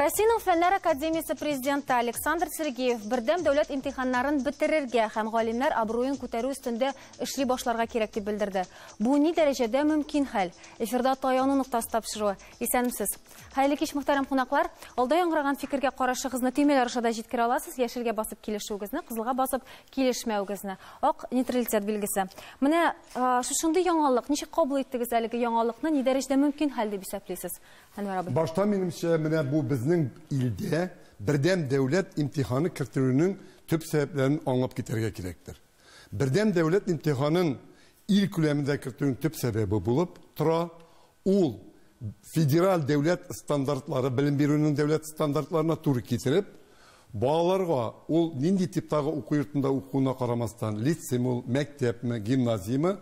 Россиянең Фәннәр академиясе президенты Александр Сергеев бердәм дәүләт имтиханнарын бетерергә һәм галимнәр абруен күтәрү өстендә эшли башларга кирәк дип белдерде. Бу ни дәрәҗәдә мөмкин хәл? Эфирда таяну ноктасы тапшыруы. Исәнмесез. Хәерле кич, мөхтәрәм кунаклар. Алда яңгыраган фикергә карашыгызны төймәләр аша да җиткерә аласыз. Яшелгә басып килешүегезне, кызылга басып килешмәвегезне. Ак нейтралитет билгесе. Менә шушындый яңалык, ничек кабул иттегез әлеге яңалыкны, ни дәрәҗәдә мөмкин хәл дип исәплисез? Әнвәр абый. Башта минемчә, менә бу безнең илдә бердәм дәүләт имтиханы кертелүнең төп сәбәпләрен аңлап китәргә кирәктер. Бердәм дәүләт имтиханын ил күләмендә кертүнең төп сәбәбе булып тора, ул федераль дәүләт стандартлары, белем бирүнең дәүләт стандартларына туры китереп, балаларга ул нинди типтагы уку йортында укуына карамастан, лицейме ул, мәктәпме, гимназияме,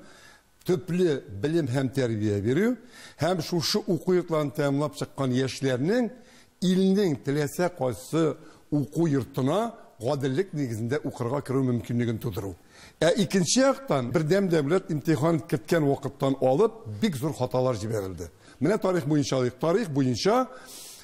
төпле белем һәм тәрбия бирү һәм шушы уку йортларын тәмамлап чыккан яшьләрнең илнең теләсә кайсы уку йортына гаделлек нигезендә укырга керү мөмкинлеген тудыру. Ә икенче яктан, бердәм дәүләт имтихан керткән вакыттан алып бик зур хаталар җибәрелде. Менә тарих буенча алыйк. Тарих буенча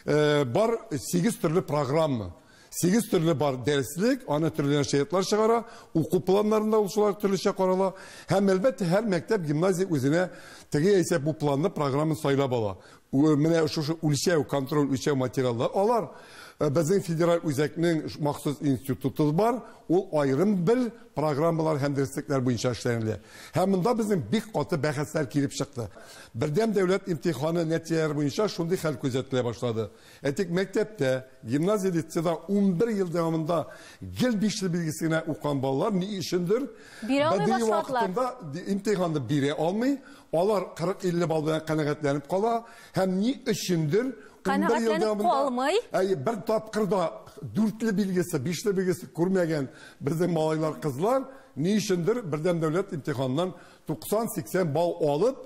бар 8 төрле программа. 8 төрле бар дәреслек, аны төрле нәшриятлар чыгара, уку планнарында ул шулар төрлечә карала. Һәм әлбәттә һәр мәктәп, гимназия үзенә теге яисә бу планны, программаны сайлап ала. Менә шушы үлчәү, контроль үлчәү материаллар алар. Безнең федераль үзәкнең махсус институты бар, ул аерым бер программалар һәм дәреслекләр буенча эшләнелә. Һәм монда безнең бик каты бәхәсләр килеп чыкты. Бердәм дәүләт имтиханы нәтиҗәләре буенча шундый хәл күзәтелә башлады. Әйтик, мәктәптә, гимназия, лицейда 11 ел дәвамында гел бишле билгесе генә укыган балалар ни өчендер Бирә алмый БДИ башладылар. вакытында имтиханны бирә алмый, алар 40-50 балл белән канәгатьләнеп кала һәм ни өчендер 11 ел Канәгатьләнеп дәвамында калмый. Әйе, бер тапкыр да дүртле билгесе, бишле билгесе күрмәгән безнең малайлар, кызлар ни өчендер бердәм дәүләт имтиханыннан 90-80 балл алып,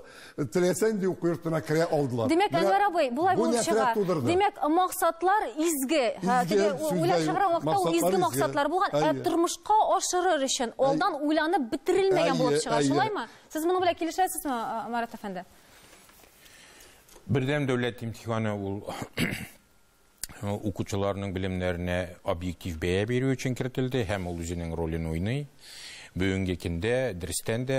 теләсә нинди уку йортына керә алдылар. Димәк, Менә Әнвәр абый, болай бу булып нәфрәт чыга. тудырды. Димәк, максатлар изге. Изге, Теге сүз уйлап дә юк. чыгарган вакытта ул Максатлар изге изге. максатлар булган. Ә Әйе. тормышка ашырыр өчен алдан уйланып бетерелмәгән булып Әйе, чыга, әйе. шулаймы? Сез моның белән килешәсезме, Марат әфәнде? Бердәм дәүләт имтиханы ул укучыларның белемнәренә объектив бәя бирү өчен кертелде һәм ул үзенең ролен уйный. Бүгенге көндә дөрестән дә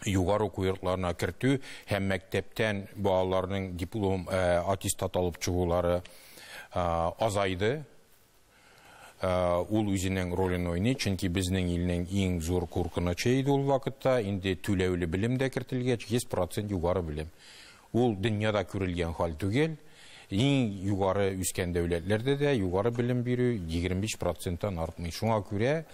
югары уку йортларына кертү һәм мәктәптән балаларның диплом, аттестат алып чыгулары азайды. Ул үзенең ролен уйный, чөнки безнең илнең иң зур куркынычы иде ул вакытта, инде түләүле белем дә кертелгәч, 100% югары белем. Ул дөньяда күрелгән хәл түгел. Иң югары үскән дәүләтләрдә дә югары белем бирү 25%-тан артмый. Шуңа күрә,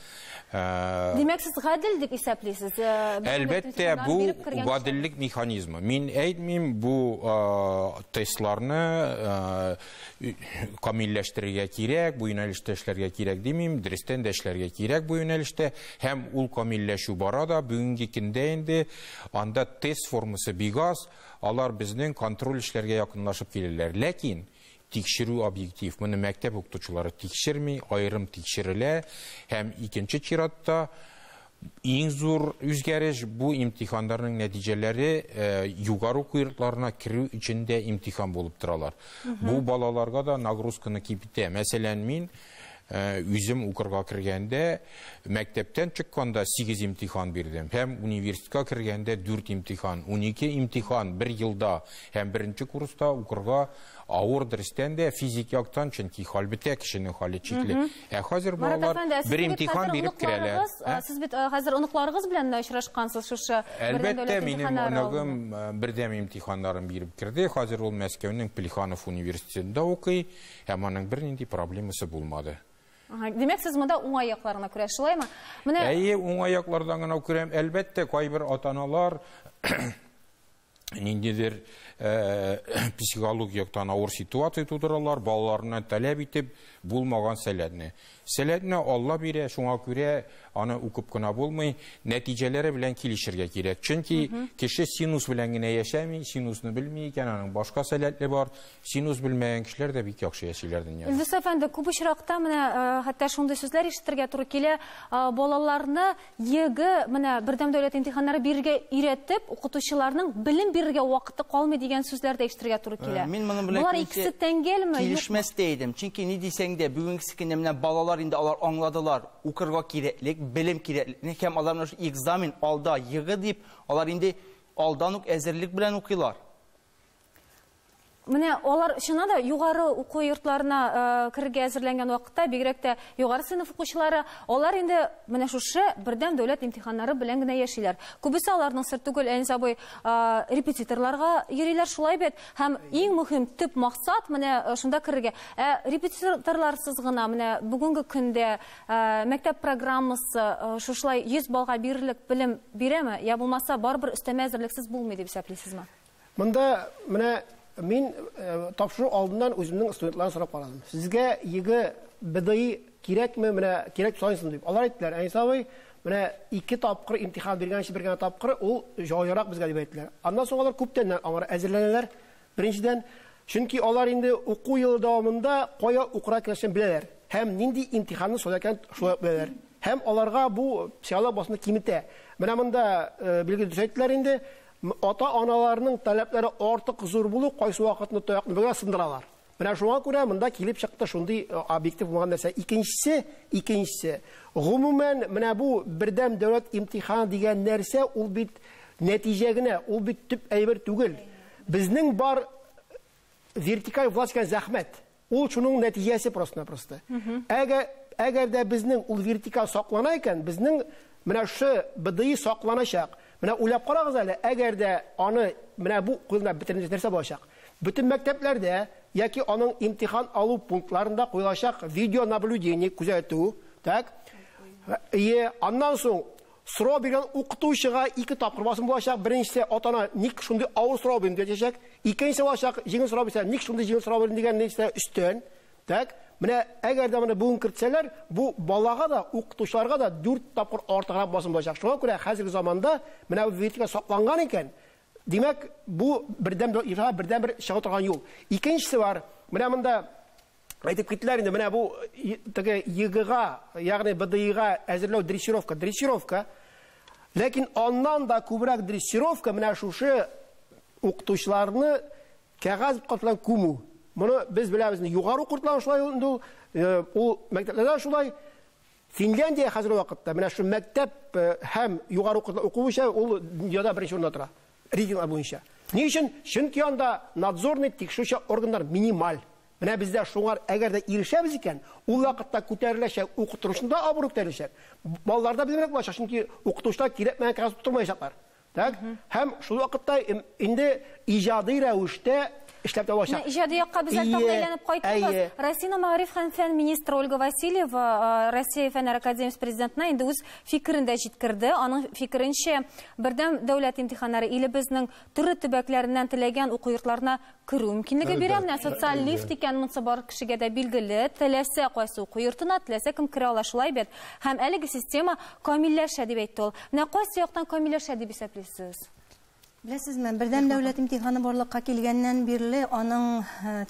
Димәк, сез гадел дип исәплисез? Бөтен Әлбәттә, дәүләт бу имтиханнарын биреп кергән гаделлек механизмы. Мин әйтмим, бу тестларны камилләштерергә кирәк, бу юнәлештә эшләргә кирәк димим, дөрестән дә эшләргә кирәк бу юнәлештә. Һәм ул камилләшү бара да, бүгенге көндә инде анда тест формасы бик аз, алар безнең контроль эшләргә якынлашып киләләр. Ләкин тикшерү объектив, моны мәктәп укытучылары тикшерми, аерым тикшерелә. Һәм икенче чиратта иң зур үзгәреш бу имтиханнарның нәтиҗәләре югары уку йортларына керү өчен дә имтихан булып торалар. Бу балаларга да нагрузканы киметә. Мәсәлән, мин үзем укырга кергәндә, мәктәптән чыкканда 8 имтихан бирдем. Һәм университетка кергәндә 4 имтихан, 12 имтихан бер елда. Һәм беренче курста укырга авыр дөрестән дә физик яктан, чөнки хәл бетә, кешенең хәле чикле. Ә хәзер Марат балалар әфәнде, ә сез бер бит имтихан хәзер биреп керәләр. оныкларыгыз, Ә? сез бит хәзер оныкларыгыз белән дә очрашкансыз шушы бердәм Әлбәттә, дәүләт минем имтиханнары оныгым, алдында. бердәм имтиханнарын биреп керде. Хәзер ул Мәскәүнең Плеханов университетында укый, һәм аның бернинди проблемасы булмады. Ага, димәк, сез монда уңай якларына күрәсез, шулаймы? Менә Әйе, уңай яклардан гына күрәм. Әлбәттә, кайбер ата-аналар ниндидер психологик яктан авыр ситуация тудыралар, балаларына таләп итеп булмаган сәләтне. Сәләтне Алла бирә, шуңа күрә аны укып кына булмый, нәтиҗәләре белән килешергә кирәк. Чөнки кеше синус белән генә яшәми, синусны белми икән, аның башка сәләтле бар. Синус белмәгән кешеләр дә бик яхшы яшиләр дөньяда. Илдус әфәнде, күп очракта менә хәтта шундый сүзләр ишетергә туры килә, балаларны ЕГЭ, менә бердәм дәүләт имтиханнары бирергә өйрәтеп, укытучыларның белем бирергә вакыты калмый дигән дигән сүзләр дә ишетергә туры килә. Мин моның белән Болар икесе тәңгәлме? Килешмәс тә идем. Чөнки ни дисәң дә, бүгенге көндә менә балалар инде алар аңладылар, укырга кирәклек, белем кирәклекне һәм алар менә шул экзамен алда ЕГЭ дип, алар инде алдан ук әзерлек белән укыйлар. Менә алар чыннан да югары уку йортларына керергә әзерләнгән вакытта, бигрәк тә югары сыйныф укучылары, алар инде менә шушы бердәм дәүләт имтиханнары белән генә яшиләр. Күбесе аларның сер түгел, Әнис абый, репетиторларга йөриләр, шулай бит. Һәм иң мөһим төп максат менә шунда керергә. Ә репетиторларсыз гына менә бүгенге көндә мәктәп программасы шушылай 100 баллга бирерлек белем бирәме, я булмаса барыбер өстәмә әзерлексез булмый дип исәплисезме? Монда менә мин тапшыру алдыннан үземнең студентлардан сорап карадым. Сезгә ЕГЭ БДИ кирәкме, менә кирәк саныйсың дип. Алар әйттеләр, Әнис абый, менә 2 тапкыр имтихан биргәнче бер генә тапкыр ул җайлырак безгә дип әйттеләр. Аннан соң алар күптәннән аңар әзерләнәләр. Беренчедән, чөнки алар инде уку елы дәвамында кая укырга кирәклеген беләләр һәм нинди имтиханны сайлар икәнен шулай ук беләләр. Һәм аларга бу психологик басымны киметә. Менә монда билгеле дөрес әйттеләр инде. Ата-аналарның таләпләре артык зур булу кайсы вакытны таякны бергә сындыралар. Менә шуңа күрә монда килеп чыкты шундый объектив булган нәрсә. Икенчесе, гомумән менә бу бердәм дәүләт имтиханы дигән нәрсә ул бит нәтиҗә генә, ул бит төп әйбер түгел. Безнең бар вертикаль власть дигән зәхмәт. Ул шуның нәтиҗәсе просто-напросто. Әгәр дә безнең ул вертикаль саклана икән, безнең менә шушы БДИ сакланачак. Менә уйлап карагыз әле, әгәр дә аны менә бу куелган бөтен нәрсә булачак. Бөтен мәктәпләрдә яки аның имтихан алу пунктларында куелачак видеонаблюдение күзәтү, так? Ие, аннан соң сорау биргән укытучыга 2 тапкыр басым булачак. Беренчесе ата-ана ник шундый авыр сорау бирде диячәк. Икенчесе булачак, җиңел сорау бирсә, ник шундый җиңел сорау бирде дигән нәрсә өстән. Так? Менә әгәр дә моны бүген кертсәләр, бу балага да, укытучыларга да 4 тапкыр артыграк басым булачак. Шуңа күрә хәзерге заманда менә бу вертикаль сакланган икән, димәк, бу бердәм бердәм бер чыга торган юл. Икенчесе бар. Менә монда әйтеп киттеләр инде, менә бу теге ЕГЭга, ягъни БДИга әзерләү дрессировка, дрессировка. Ләкин аннан да күбрәк дрессировка менә шушы укытучыларны кәгазь белән күмү. Моны без беләбез, югары уку йортлары шулай инде ул, ул мәктәпләрдә шулай. Финляндия хәзерге вакытта менә шу мәктәп һәм югары уку уку буенча ул дөньяда беренче урында тора. Рейтинглар буенча. Ни өчен? Чөнки анда надзорный тикшерүче органнар минималь. Менә бездә шуңар әгәр дә ирешәбез икән, ул вакытта күтәреләчәк, укытучының да абруе күтәреләчәк. Балалар да белемрәк булачак, чөнки укытучылар кирәкмәгән кәгазь тотмаячаклар. Так? Һәм шул вакытта инде иҗади рәвештә эшләп тә булачак. Иҗади якка без әле тагын әйләнеп кайтырбыз. Россиянең мәгариф һәм фән министры Ольга Васильева Россия Фәннәр академиясе президентына инде үз фикерен дә җиткерде. Аның фикеренчә, бердәм дәүләт имтиханнары илебезнең төрле төбәкләреннән теләгән уку йортларына керү мөмкинлеге бирә. Менә социаль лифт икән, монысы бар кешегә дә билгеле. Теләсә кайсы уку йортына, теләсә кем керә ала, шулай бит. Һәм әлеге система камилләшә дип әйтте ул. Менә кайсы яктан камилләшә дип исәплисез? Беләсезме, бердәм дәүләт имтиханы барлыкка килгәннән бирле аның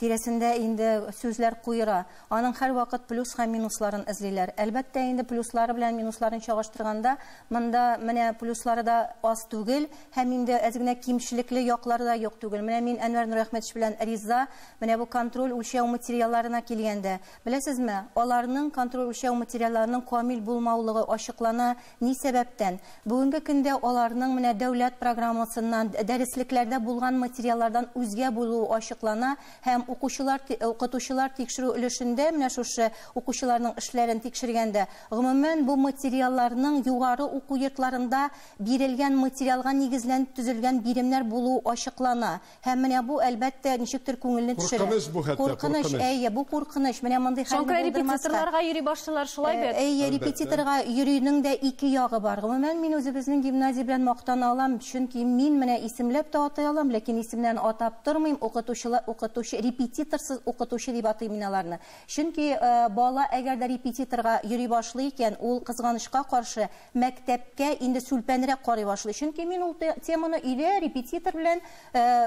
тирәсендә инде сүзләр куера. Аның һәр вакыт плюс һәм минусларын эзлиләр. Әлбәттә, инде плюслары белән минусларын чагыштырганда, монда менә плюслары да аз түгел, һәм инде әз генә кимчелекле яклары да юк түгел. Менә мин Әнвәр Нурәхмәтович белән риза, менә бу контроль үлчәү материалларына килгәндә, беләсезме, аларның контроль үлчәү материалларының камил булмаулыгы ачыклана. Ни сәбәптән? Бүгенге көндә аларның менә дәүләт программасыннан, дәреслекләрдә булган материаллардан үзгә булуы ачыклана һәм укучылар, укытучылар тикшерү өлешендә менә шушы укучыларның эшләрен тикшергәндә, гомумән бу материалларның югары уку йортларында бирелгән материалга нигезләнеп төзелгән биремнәр булуы ачыклана. Һәм менә бу әлбәттә ничектер күңелне төшерә. Куркыныч бу хәтта, Куркыныч, әйе, бу куркыныч. Менә мондый хәлне Шуңа күрә булдырмаска. репетиторларга йөри башлыйлар, шулай бит? Әйе, репетиторга йөрүнең дә ике ягы бар. Гомумән, мин үзебезнең гимназия белән мактана алам, чөнки мин менә исемләп тә атай алам, ләкин исемнәрен атап тормыйм. Укытучылар, укытучы, репетиторсыз укытучы дип атыйм мин аларны. Чөнки бала әгәр дә репетиторга йөри башлый икән, ул кызганычка каршы мәктәпкә инде сүлпәнрәк карый башлый. Чөнки мин ул теманы өйдә репетитор белән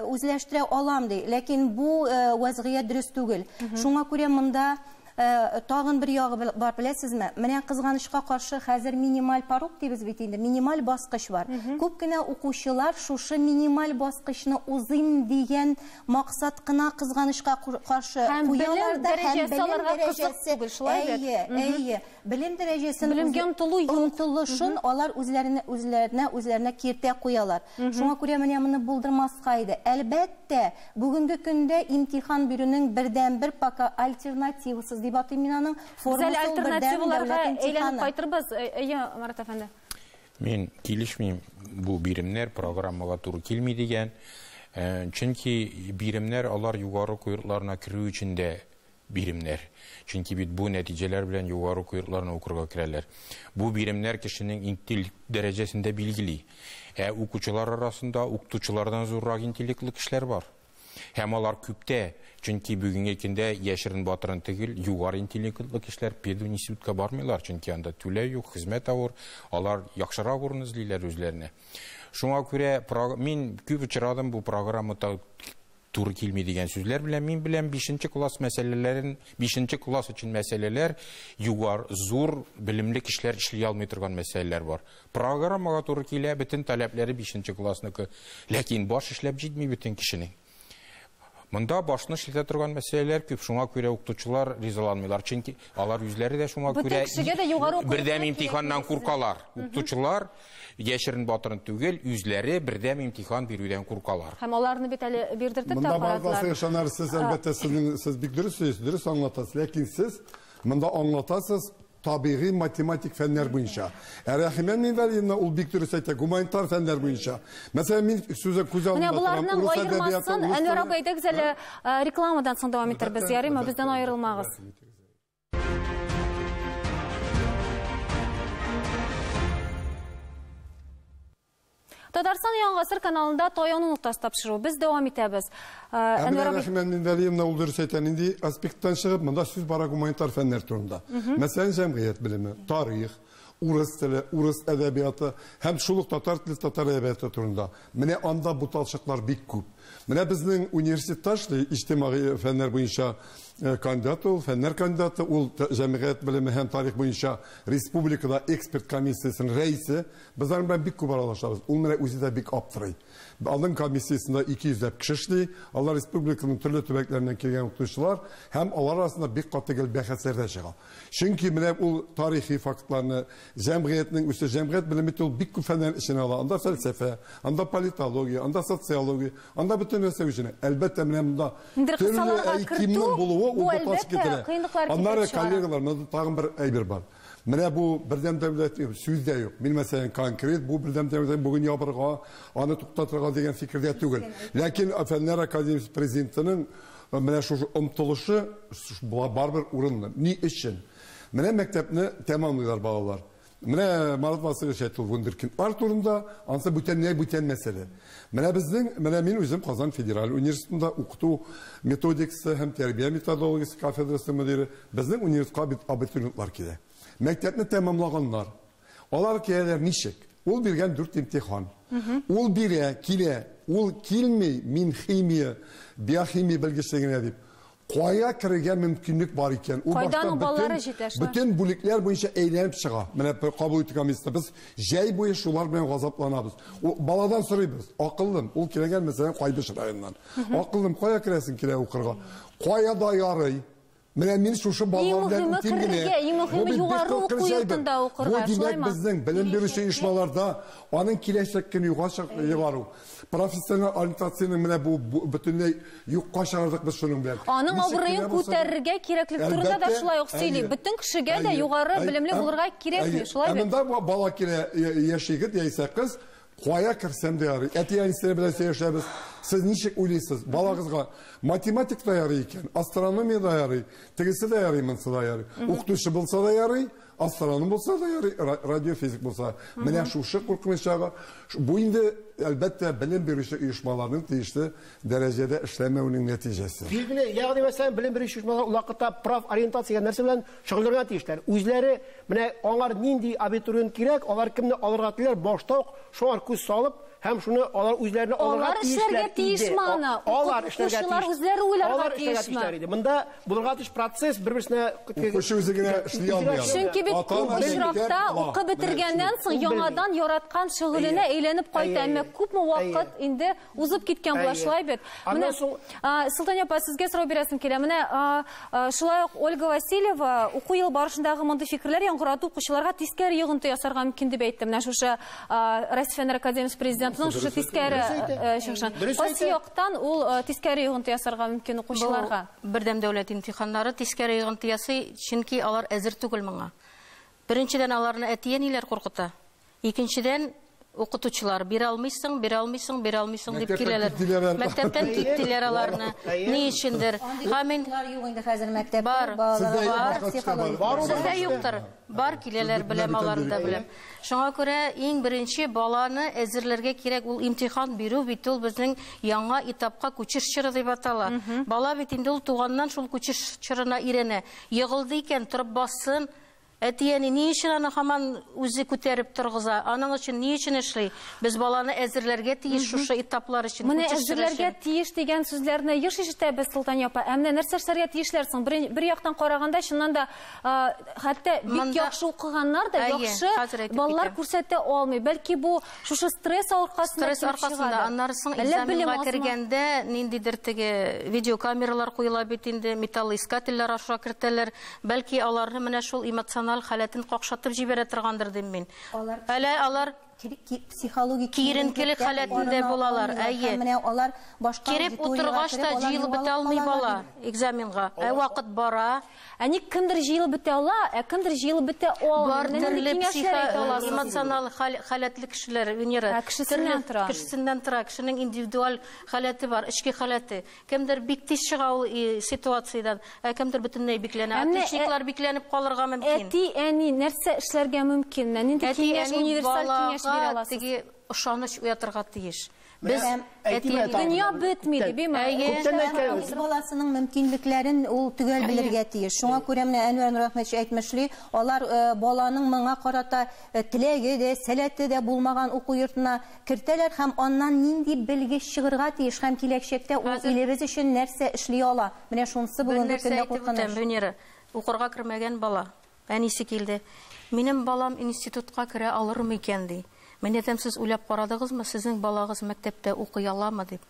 үзләштерә алам ди. Ләкин бу вазгыять дөрес түгел. Шуңа күрә монда Тагын бер ягы бар, беләсезме? Менә кызганычка каршы хәзер минималь порог дибез бит инде, минималь баскыч бар. Күп кенә укучылар шушы минималь баскычны узыйм дигән максат кына кызганычка каршы куялар да, һәм белем дәрәҗәсе түгел, шулай бит? Әйе, әйе. Белем дәрәҗәсен белемгә омтылу юк. Омтылышын алар үзләренә киртә куялар. Шуңа күрә менә моны булдырмаска иде. Әлбәттә, бүгенге көндә имтихан бирүнең бердәнбер пока альтернативасыз дип атыйм мин аның формасы бердәм дәүләт имтиханы. Кайтырбыз, әйе, Марат әфәнде. Мин килешмим, бу биремнәр программага туры килми дигән. Чөнки биремнәр алар югары уку йортларына керү өчен дә биремнәр. Чөнки бит бу нәтиҗәләр белән югары уку йортларына укырга керәләр. Бу биремнәр кешенең интеллект дәрәҗәсен дә билгели. Ә укучылар арасында укытучылардан зуррак интеллектлы кешеләр бар. Һәм алар күптә, чөнки бүгенге көндә яшерен батырын түгел, югары интеллектлы кешеләр пединститутка бармыйлар, чөнки анда түләү юк, хезмәт авыр, алар яхшырак урын эзлиләр үзләренә. Шуңа күрә мин күп очрадым бу программа туры килми дигән сүзләр белән. Мин беләм 5 класс мәсьәләләрен, 5 класс өчен мәсьәләләр югары зур белемле кешеләр эшли алмый торган мәсьәләләр бар. Программага туры килә, бөтен таләпләре 5 классныкы, ләкин баш эшләп җитми бөтен кешенең. Монда башны эшләтә торган мәсьәләләр күп, шуңа күрә укытучылар ризаланмыйлар, чөнки алар үзләре дә шуңа күрә бердәм имтиханнан куркалар. Укытучылар яшерен батырын түгел, үзләре бердәм имтихан бирүдән куркалар. Һәм аларны бит әле бирдертеп тә карадылар. Монда барлыгы сез әлбәттә сез бик дөрес сөйлисез, дөрес аңлатасыз, ләкин сез монда аңлатасыз табигый математик фәннәр буенча. Ә Рәхимә Минвәлиевна ул бик дөрес әйтә, гуманитар фәннәр буенча. Мәсәлән, мин сүзне күз алдымда торам. Менә буларның аермасын Әнвәр абый, әйдәгез әле рекламадан соң дәвам итәрбез. Ярыймы, бездән аерылмагыз. Татарстан Яңа Гасыр каналында Таяну ноктасы тапшыру. Без дәвам итәбез. Әнвәр абый, Рәхимә Минвәлиевна ул дөрес әйтә, нинди аспекттан чыгып, монда сүз бара гуманитар фәннәр турында. Мәсәлән, җәмгыять белеме, тарих, урыс теле, урыс әдәбияты һәм шул ук татар теле, татар әдәбияты турында. Менә анда буталчыклар бик күп. Менә безнең университетта эшли иҗтимагый фәннәр буенча кандидат ул, фәннәр кандидаты, ул җәмгыять белеме һәм тарих буенча республикада эксперт комиссиясенең рәисе. Без аның белән бик күп аралашабыз. Ул менә үзе дә бик аптырый. Аның комиссиясендә 200 ләп кеше эшли. Алар республиканың төрле төбәкләреннән килгән укытучылар һәм алар арасында бик каты гел бәхәсләр дә чыга. Чөнки менә ул тарихи фактларны, җәмгыятьнең үсеше, җәмгыять белеме ул бик күп фәннәр эченә ала. Анда фәлсәфә, анда политология, анда социология, анда бөтен нәрсә эченә. Әлбәттә, менә монда төрле әйтимнең булуы ул буталчык китерә. Аннары коллегалар, монда тагын бер әйбер бар. Менә бу бердәм дәүләт сүз дә юк. Мин мәсәлән конкрет бу бердәм дәүләт бүген ябырга, аны туктатырга дигән фикердә түгел. Ләкин Фәннәр академиясе президентының менә шушы омтылышы барыбер урынлы. Ни өчен? Менә мәктәпне тәмамлыйлар балалар. Менә Марат Васильевич әйтте, ул вундеркиндлар турында, ансы бүтәнләй бүтән мәсьәлә. Менә безнең, менә мин үзем Казан федераль университетында укыту методикасы һәм тәрбия методологиясе кафедрасы мөдире. Безнең университетка бит абитуриентлар килә. Мәктәпне тәмамлаганнар. Алар киләләр ничек? Ул биргән 4 имтихан. Ул бирә, килә, ул килми, мин химия, биохимия белгечлегенә дип. Кая керергә мөмкинлек бар икән? Ул башта бөтен бүлекләр буенча әйләнеп чыга. Менә кабул итү комиссиясе без җәй буе шулар белән газапланабыз. Ул баладан сорыйбыз. Акыллым, ул килгән мәсәлән Кайбыч районыннан. Акыллым, кая керәсең килә укырга? Кая да ярый. Менә мин шушы балалар белән үтим генә. Иң мөһиме югары уку йортында укырга, шулаймы? Бу димәк безнең белем бирүче оешмаларда аның киләчәк көне юкка чыгару. Профессиональ ориентацияның менә бу бөтенләй юкка чыгардык без шуның белән. Аның абруен күтәрергә кирәклек турында да шулай ук сөйли. Бөтен кешегә дә югары белемле булырга кирәкми, шулай бит? Ә монда бала килә, яшь егет яисә кыз, кая керсәм дә ярый. Әти-әнисе белән сөйләшәбез. Сез ничек уйлыйсыз? Балагызга математик та ярый икән, астрономия да ярый, тегесе дә ярый, монысы да ярый. Укытучы булса да ярый, астроном булса да ярый, радиофизик булса. Менә шушы куркыныч ягы. Бу инде әлбәттә, белем бирүче оешмаларның тиешле дәрәҗәдә эшләмәвенең нәтиҗәсе. Билгеле, ягъни мәсәлән, белем бирүче оешмалар ул вакытта профориентация дигән нәрсә белән шөгыльләнергә тиешләр. Үзләре менә аңар нинди абитуриент кирәк, алар кемне алырга телиләр, башта ук шуңар күз салып һәм шуны алар үзләренә алырга Алар эшләргә тиешме аны? Алар эшләргә Укучылар тиеш. үзләре уйларга Алар эшләргә тиешме? тиешләр иде. Монда булырга тиеш процесс бер-берсенә Укучы үзе генә эшли алмый аны. Чөнки бит Ата-ана күп очракта мәктәп ала. укып бетергәннән соң яңадан яраткан шөгыленә әйләнеп кайта. Әмма күпме вакыт инде узып киткән була, шулай бит. Аннан Менә, соң- Солтания апа, сезгә сорау бирәсем килә. Менә шулай ук Ольга Васильева уку елы барышындагы мондый фикерләр яңгырату укучыларга тискәре йогынты ясарга мөмкин дип әйтте. Менә шушы Россия Фәннәр академиясе президентының шушы тискәре чыгышын. Кайсы яктан ул тискәре йогынты ясарга мөмкин укучыларга? Бердәм дәүләт имтиханнары тискәре йогынты ясый, чөнки алар әзер түгел моңа. Беренчедән, аларны әти-әниләр куркыта. Икенчедән, укытучылар бирә алмыйсың, бирә алмыйсың, бирә алмыйсың дип Мәктәптән киләләр. киттеләр. Мәктәптән киттеләр аларны. Ни өчендер? Һәм инде Андый юк инде хәзер мәктәптә. Бар. Балаларга Сездә бар, башка психологик. бар. Сездә юктыр. Бар киләләр, беләм, аларны да беләм. Шуңа күрә иң беренче баланы әзерләргә кирәк. Ул имтихан бирү бит ул безнең яңа этапка күчеш чоры дип атала. Бала бит инде ул туганнан шул күчеш чорына өйрәнә. Егылды икән, торып бассын. Әти-әни ни өчен аны һаман үзе күтәреп торгыза? Аның өчен ни өчен эшли? Без баланы әзерләргә тиеш шушы этаплар өчен. Менә күчеш чоры әзерләргә өчен. тиеш дигән сүзләрне еш ишетәбез, Солтания апа. Ә менә нәрсә эшләргә тиешләр соң? Бер яктан караганда, чыннан да, хәтта бик яхшы укыганнар да яхшы баллар күрсәтә алмый. Бәлки бу шушы стресс аркасында Стресс аркасында, аннары соң экзаменга кергәндә ниндидер теге видеокамералар куела бит инде, металлоискательләр аша кертәләр. Бәлки аларны менә шул эмоциональ халәтен какшатып җибәрә торгандыр дим мин. Әле алар психологик киеренкелек халәтендә булалар. Әйе. Менә алар башка Кереп утыргач та җыелып бетә алмый бала экзаменга. Ә вакыт бара. Ә ник кемдер җыелып бетә ала, ә кемдер җыелып бетә алмый. Бар төрле психо эмоциональ халәтле кешеләр, Венера. Кешесеннән тора. Кешесеннән тора. Кешенең индивидуаль халәте бар, эчке халәте. Кемдер бик тиз чыга ул ситуациядән, ә кемдер бөтенләй бикләнә. Отличниклар бикләнеп калырга мөмкин. Әти-әни нәрсә эшләргә мөмкин? Нинди киңәш, универсаль киңәш бирә аласыз? Теге ышаныч уятырга тиеш. Без дөнья бетми дип, әйме? Үз баласының мөмкинлекләрен ул төгәл белергә тиеш. Шуңа күрә менә Әнвәр Нурәхмәтович әйтмешли, алар баланың моңа карата теләге дә, сәләте дә булмаган уку йортына кертәләр һәм аннан нинди белгеч чыгырга тиеш һәм киләчәктә ул илебез өчен нәрсә эшли ала. Менә шунысы бүгенге көндә куркыныч. Венера, укырга кермәгән бала, әнисе килде. Минем балам институтка керә алырмы икән ди. Мин әйтәм, сез уйлап карадыгызмы, сезнең балагыз мәктәптә укый аламы дип?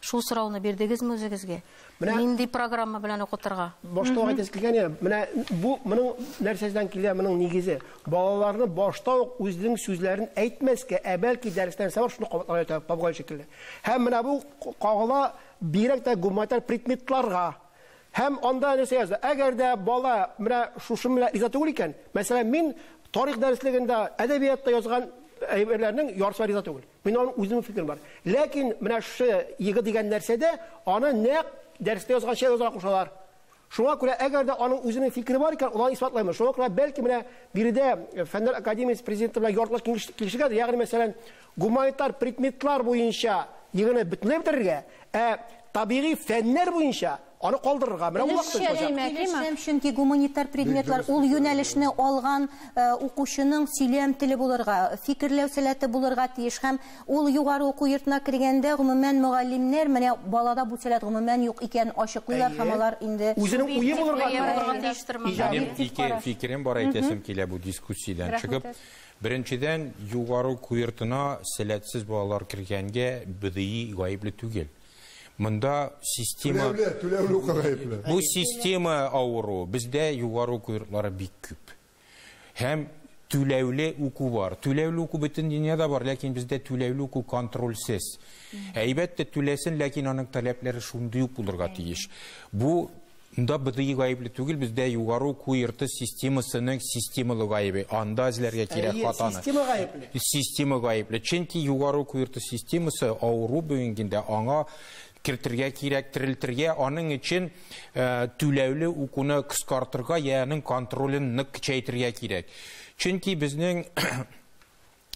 Шул сорауны бирдегезме үзегезгә? Нинди программа белән укытырга? Башта ук әйтәсе килгән иде, менә бу моның нәрсәдән килә, моның нигезе. Балаларны башта ук үзенең сүзләрен әйтмәскә, ә бәлки дәрестән соң шуны кабатларга әйтә, попугай шикелле. Һәм менә бу кагыла бигрәк тә гуманитар предметларга. Һәм анда нәрсә яза? Әгәр дә бала менә шушы белән риза түгел икән, мәсәлән, мин тарих дәреслегендә, әдәбиятта язган әйберләрнең яртысы риза түгел. Мин аның үземнең фикерем бар. Ләкин менә шушы ЕГЭ дигән нәрсәдә аны нәкъ дәрестә язганча язарга кушалар. Шуңа күрә әгәр дә аның үзенең фикере бар икән, ул аны исбатлаймы. Шуңа күрә бәлки менә биредә Фәннәр академиясе президенты белән яртылаш килешергә, ягъни мәсәлән, гуманитар предметлар буенча ЕГЭне бөтенләй бетерергә, ә табигый фәннәр буенча аны калдырырга. Менә ул вакыт җитәчәк. Чөнки гуманитар предметлар ул юнәлешне алган укучының сөйләм теле булырга, фикерләү сәләте булырга тиеш һәм ул югары уку йортына кергәндә гомумән мөгаллимнәр менә балада бу сәләт гомумән юк икәнен ачыклыйлар һәм алар инде үзенең уе булырга тиеш. Минем ике фикерем бар әйтәсем килә бу дискуссиядән чыгып. Беренчедән, югары уку йортына сәләтсез балалар кергәнгә БДИ гаепле түгел. Монда система бу система авыру. Бездә югары уку йортлары бик күп. Һәм түләүле уку бар. Түләүле уку бөтен дөньяда бар, ләкин бездә түләүле уку контрольсез. Әйбәттә түләсен, ләкин аның таләпләре шундый ук булырга тиеш. Бу Монда БДИ гаепле түгел, бездә югары уку йорты системасының системалы гаебе. Анда эзләргә кирәк хатаны. Система гаепле. Система гаепле. Чөнки югары уку йорты системасы авыру бүгенгендә аңа кертергә кирәк, терелтергә, аның өчен түләүле укуны кыскартырга, я аның контролен нык көчәйтергә кирәк. Чөнки безнең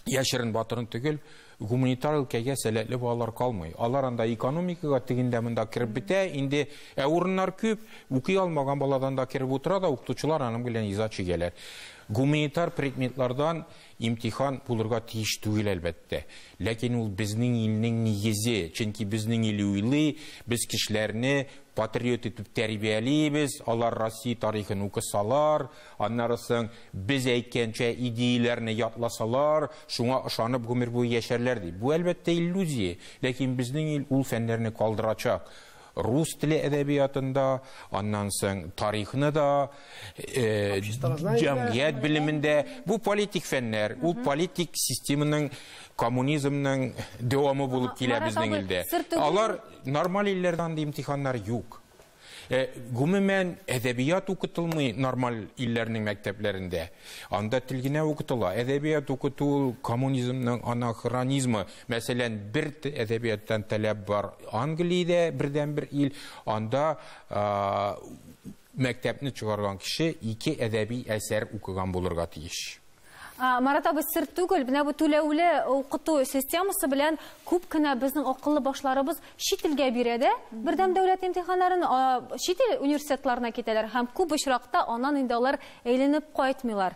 яшерен батырын түгел, Гуманитар өлкәгә сәләтле балалар калмый. Алар анда экономикага тегендә монда кереп бетә. Инде урыннар күп, укый алмаган баладан да кереп утыра да, укытучылар аның белән иза чигәләр. Гуманитар предметлардан имтихан булырга тиеш түгел, әлбәттә. Ләкин ул безнең илнең нигезе, чөнки безнең ил уйлый, без кешеләрне патриот итеп тәрбиялибез, алар Россия тарихын укысалар, аннары соң без әйткәнчә идеяләрне ятласалар, шуңа ышанып гомер буе яшәрләр дип. Бу әлбәттә иллюзия, ләкин безнең ил ул фәннәрне калдырачак. Рус теле әдәбиятында, аннан соң тарихны да, җәмгыять белемендә, бу политик фәннәр, ул политик системаның, коммунизмның дәвамы булып килә безнең илдә. Алар нормаль илләрдә андый имтиханнар юк. Гомумән, әдәбият укытылмый нормаль илләрнең мәктәпләрендә. Анда тел генә укытыла. Әдәбият укыту ул коммунизмның анахронизмы. Мәсәлән, бер әдәбияттан таләп бар Англиядә, бердәнбер ил. Анда мәктәпне чыгарган кеше ике әдәби әсәр укыган булырга тиеш. Марат абый, сер түгел, менә бу түләүле укыту системасы белән күп кенә безнең акыллы башларыбыз чит илгә бирә дә, бердәм дәүләт имтиханнарын чит ил университетларына китәләр һәм күп очракта аннан инде алар әйләнеп кайтмыйлар.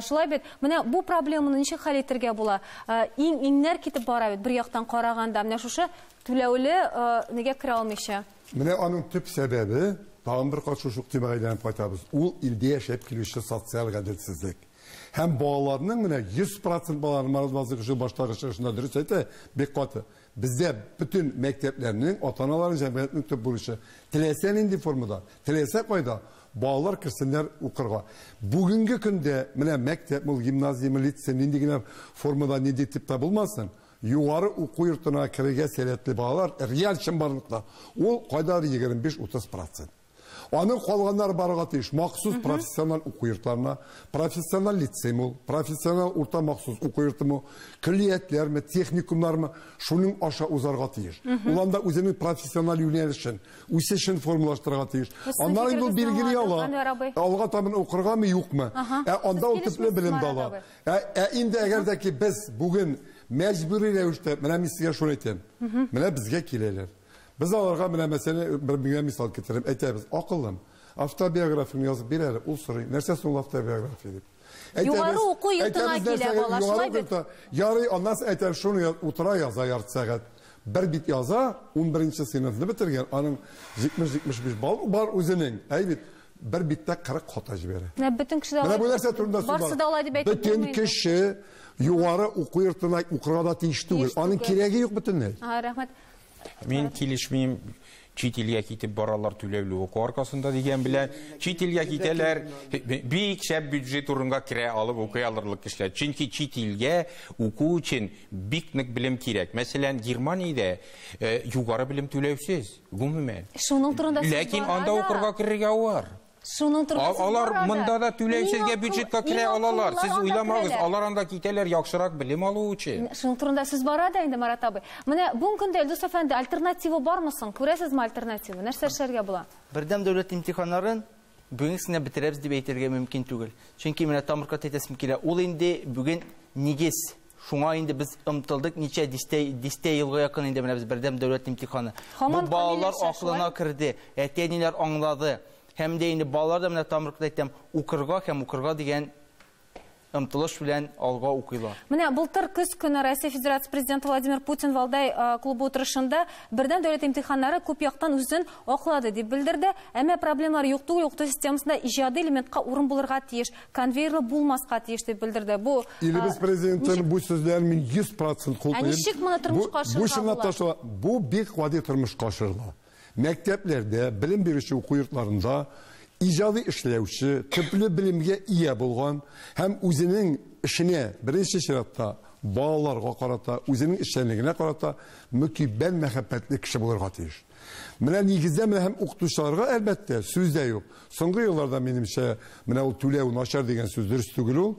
Шулай бит, менә бу проблеманы ничек хәл итәргә була? Иң-иңнәр китеп бара бит бер яктан караганда, менә шушы түләүле нигә керә алмыйча? Менә аның төп сәбәбе, тагын бер кат шушы ук темага әйләнеп кайтабыз. Ул илдә яшәп килүче социаль гаделсезлек. Һәм балаларның менә 100% балаларның Марат Вазыйхович шул баштагы чыгышында дөрес әйтә, бик каты. Бездә бөтен мәктәпләрнең, ата-аналарның, җәмгыятьнең төп бурычы теләсә нинди формада, теләсә кайда балалар керсеннәр укырга. Бүгенге көндә менә мәктәп, ул гимназия, лицей, нинди генә формада, нинди типта булмасын, югары уку йортына керергә сәләтле балалар реаль чынбарлыкта ул кайдадыр 25-30%. Аның калганнары барырга тиеш махсус профессиональ уку йортларына, профессиональ лицей ул, профессиональ урта махсус уку йортымы, көллиятләрме, техникумнармы, шуның аша узарга тиеш. Ул анда үзенең профессиональ юнәлешен, үсешен формалаштырырга тиеш. Аннары инде ул билгели ала, алга табан укыргамы, юкмы. Ә анда ул төпле белем дә ала. Ә инде әгәр дә ки без бүген мәҗбүри рәвештә, менә мин сезгә шуны әйтәм. Менә безгә киләләр. Без аларга менә мәсәлән бер миңа мисал китереп әйтәбез. Акыллым, автобиографияне язып бир әле, ул сорый. Нәрсә соң ул автобиография дип. Югары уку йортына килә бала, шулай бит. Ярый, аннан соң әйтәм, шуны утыра яза ярты сәгать. Бер бит яза, 11 сыйныфны бетергән, аның 70-75 балл бар үзенең. Әй бит, бер биттә 40 хата җибәрә. Менә бөтен кеше дә Менә бу нәрсә турында сүз бар. Барсы да алай дип әйтеп Бөтен кеше югары уку йортына укырга да тиеш түгел. Аның кирәге юк бөтенләй. Рәхмәт. Мин килешмим, чит илгә китеп баралар түләүле уку аркасында дигән белән, чит илгә китәләр, бик шәп бюджет урынга керә алып укый алырлык кешеләр. Чөнки чит илгә уку өчен бик нык белем кирәк. Мәсәлән, Германиядә югары белем түләүсез, гомумән. Шуның турында сүз Ләкин бара анда да. укырга керергә авыр. Шуның турында сүз Алар бара да. монда да түләүсезгә Иң бюджетка акыл- керә иң алалар. акыллылар Сез анда уйламагыз, керәләр. алар анда китәләр яхшырак белем алу өчен. Шуның турында сүз бара да инде, Марат абый. Менә бүгенге көндә Илдус әфәнде, альтернатива бармы соң? Күрәсезме альтернатива? Нәрсә эшләргә була? Бердәм дәүләт имтиханнарын бүгенгесенә бетерәбез дип әйтергә мөмкин түгел. Чөнки менә тамырка әйтәсем килә. Ул инде бүген нигез. Шуңа инде без омтылдык ничә дистә елга якын инде менә без бердәм дәүләт имтиханы. Һаман Бу балалар камилләшә, акылына шулай? керде, әти-әниләр аңлады. Һәм дә инде балалар да менә тамыркта әйтәм, укырга һәм укырга дигән омтылыш белән алга укыйлар. Менә былтыр көз көне Россия Федерация Президенты Владимир Путин Валдай клубы утырышында бердәм дәүләт имтиханнары күп яктан үзен аклады дип белдерде. Әмма проблемалар юк түгел, укыту системасында иҗади элементка урын булырга тиеш, конвейерлы булмаска тиеш дип белдерде. Бу, Илебез президентының бу сүзләрен мин 100% хуплыйм. Ә ничек моны тормышка Бу ашырырга чынлап була? та шулай. Бу бик гади тормышка ашырыла. Мәктәпләрдә, белем бирүче уку йортларында иҗади эшләүче, төпле белемгә ия булган һәм үзенең эшенә беренче чиратта балаларга карата, үзенең эшчәнлегенә карата мөкиббән мәхәббәтле кеше булырга тиеш. Менә нигездә менә һәм укытучыларга әлбәттә сүз дә юк. Соңгы елларда минемчә менә ул түләү начар дигән сүз дөрес түгел ул.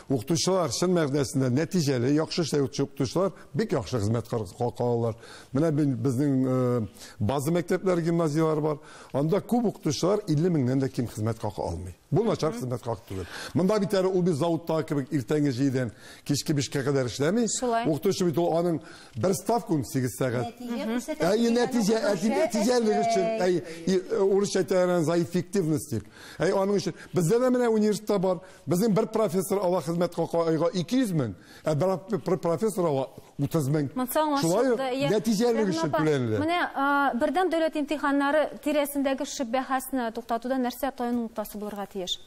Укытучылар чын мәгънәсендә нәтиҗәле, яхшы эшләүче укытучылар бик яхшы хезмәт кылалар. Менә безнең база мәктәпләр, гимназияләр бар. Анда күп укытучылар 50 меңнән дә ким хезмәт хакы алмый. Бу начар хезмәт хакы түгел. Монда бит әле ул бит заводтагы кебек иртәнге 7-дән кичке 5-кә кадәр эшләми. Укытучы бит ул аның бер ставка 18 сәгать. Әй, нәтиҗә, нәтиҗәлелек өчен, әй, урысча әйтәләр за эффективность дип. Әй, аның өчен бездә дә менә университетта бар. Безнең бер профессор ала хезмәт хакы айга 200 мең, ә бер профессор ала 30 мең. Шулай ук нәтиҗәлелек өчен түләнелә. Менә бердәм дәүләт имтиханнары тирәсендәге шөбһәсне туктатуда нәрсә таяну ноктасы булырга тиеш?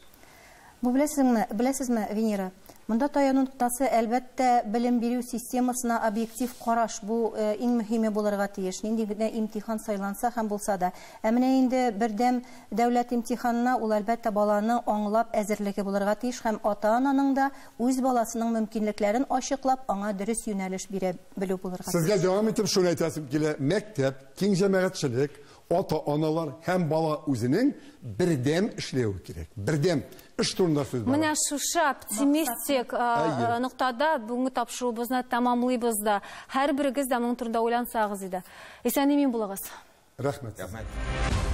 Бу беләсезме, беләсезме, Венера? Монда таяну ноктасы, әлбәттә, белем бирү системасына объектив караш, бу иң мөһиме булырга тиеш. Нинди генә имтихан сайланса һәм булса да. Ә менә инде бердәм дәүләт имтиханына ул әлбәттә баланы аңлап әзерлеге булырга тиеш һәм ата-ананың да үз баласының мөмкинлекләрен ачыклап, аңа дөрес юнәлеш бирә белү булырга тиеш. Сезгә дәвам итеп шуны әйтәсем килә, мәктәп, киң җәмәгатьчелек, ата-аналар һәм бала үзенең бердәм эшләве кирәк. Бердәм эш турында сүз бара. Менә шушы оптимистик ноктада бүгенге тапшыруыбызны тәмамлыйбыз да. Һәрберегез дә моның турында уйлансагыз иде. Исән-имин булыгыз. Рәхмәт. Рәхмәт.